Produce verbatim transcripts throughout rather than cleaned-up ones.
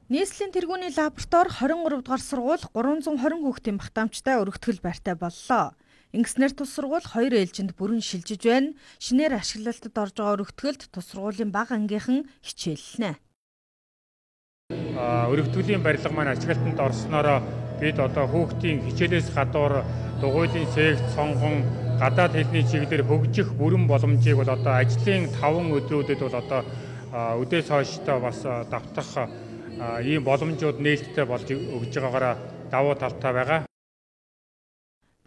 Нийслэлийн тэргүүний лаборатори двадцать три дугаар сургууль гурван зуун двадцать хүүхдийн багтаамжтай өргөтгөл байртай боллоо. Ингэснээр тус сургууль хоёр ээлжинд бүрэн шилжиж байна. Шинээр ашиглалтад орж байгаа өргөтгөлд тус сургуулийн бага ангийнхан хичээллэнэ. Өргөтгөлийн барилга маань ашиглалтанд орсноороо бид одоо хүүхдийн хичээлээс гадуур дугуйлын секц, сонгон, гадаад хэлний чиглэлээр хөгжих бүрэн боломжийг бол одоо ажлын таван өдрүүдэд бол одоо өдөөс хойштой бас давтах ийм боломжууд нээлттэй болж өгж байгаагаараа давуу талтай байгаа.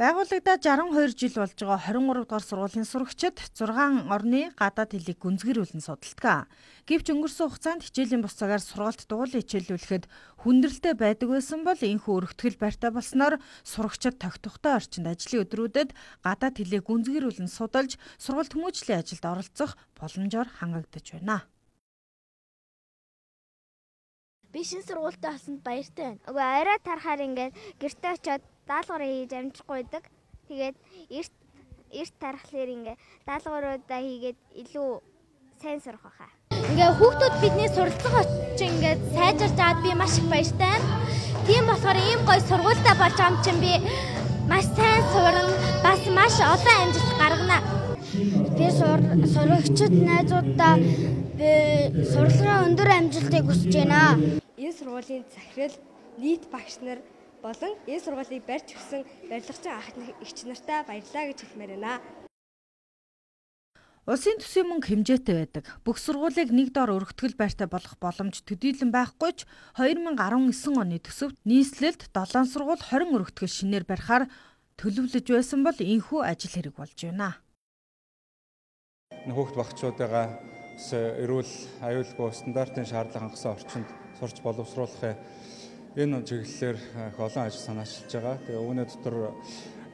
Байгууллагадаа шестьдесят two жил болж байгаа двадцать три дугаар сургуулийн сурагчид зургаан орны гадаад хэлийг гүнзгийрүүлэн судалдаг. Гэвч өнгөрсөн хугацаанд хичээлийн бус цагаар сургалт дугуйлан хичээллүүлэхэд хүндрэлтэй байдаг байсан бол энэхүү өргөтгөл байртай болсноор сурагчид тогтвортой орчинд ажлын өдрүүдэд гадаад хэлийг гүнзгийрүүлэн судалж сургалт хүмүүжлийн ажилд оролцох боломжоор хангагдаж байна. Би шинэ сургуультай олсонд баяртай байна. Уг арай тарахаар ингээд гэртээ очиод даалгавар хийж амжихгүй байдаг. Тэгээд эрт эрт тарахлаар ингээд даалгавруудаа хийгээд илүү сайн сурах байхаа. Ингээ хүүхдүүд бидний суралцах очиж ингээд сайжирч аваад би маш их баяртай байна. Тийм болохоор ийм гоё сургуультай болж байгаа юм чинь би маш сайн сурна, бас маш олон амжилт гаргана. Би сурагчид найзуудаа сурлагын өндөр амжилтыг хүсэж байна. Энэ сургуулийн захирал, нийт багш нар болон энэ сургуулийг барьж өгсөн барилгачин ах эгч нартай баярлалаа гэж хэлмээр байна. Улсын төсвийн мөнгө хэмжээтэй байдаг. Бүх сургуулийг нэг дор өргөтгөл байртай болгох боломж төдийлөн байхгүй ч two thousand nineteen оны төсөвт нийслэлд долоон сургууль twenty өргөтгөл шинээр барихаар төлөвлөж байсан бол энэхүү ажил хэрэг болж байна. Хүүхд багчуудаа эрүүл аюулгүй стандартын шаардлага хангасан орчинд сурч боловсруулахын энэ чиглэлээр их олон ажил санаачилж байгаа. Тэгээ үүний дотор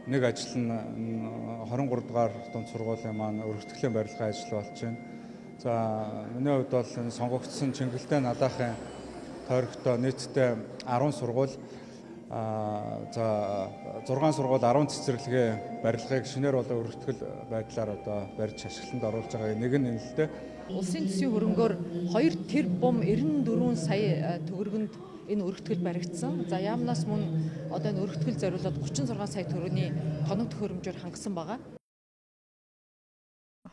нэг ажил нь twenty three дугаар дунд сургуулийн маань өргөтгөлийн барилгын ажил болж байна. За миний хувьд бол энэ сонгогдсон Чингэлтэй Надаахын тойрогтой нийтдээ ten сургууль а за six сургууль ten цэцэрлэгийн барилгыг шинээр болон өргөтгөл байдлаар одоо барьж ашиглалтанд оруулж байгаа. Нэг нь энэ л дээ. Улсын төсвийн хөрөнгөөр two тэрбум ninety-four сая төгрөгөнд энэ өргөтгөл баригдсан. За яамнаас мөн одоо энэ өргөтгөл зориулаад thirty-six сая төгрөгийн тоног төхөөрөмжөөр хангасан байгаа.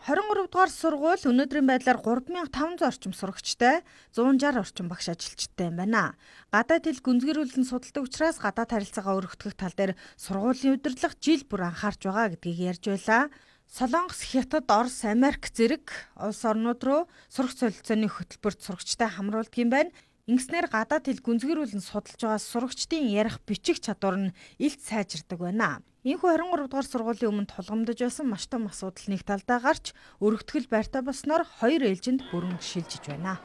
twenty three дугаар сургууль өнөөдрийн байдлаар three thousand five hundred орчим сурагчтай, one hundred sixty орчим багш ажилчтай юм байна. Гадаад хэл гүнзгийрүүлэн судалдаг учраас гадаад харилцаагаа өргөтгөх тал дээр сургуулийн удирдлага жил бүр анхаарч байгаа гэдгийг ярьж байлаа. Солонгос, Хятад, Орос, Америк зэрэг улс орнууд руу сурах солилцооны хөтөлбөрт сурагчтай хамруулдаг юм байна. Ингэснээр гадаад хэл гүнзгийрүүлэн судалж байгаа сурагчдын ярих бичих чадвар нь илт сайжирдаг байна. Энэхүү twenty three дугаар сургуулийн өмнө тулгамдж байсан маш том асуудал нэг талдаа гарч өргөтгөл байртай болсноор хоёр ээлжинд бүрэн шилжиж байна.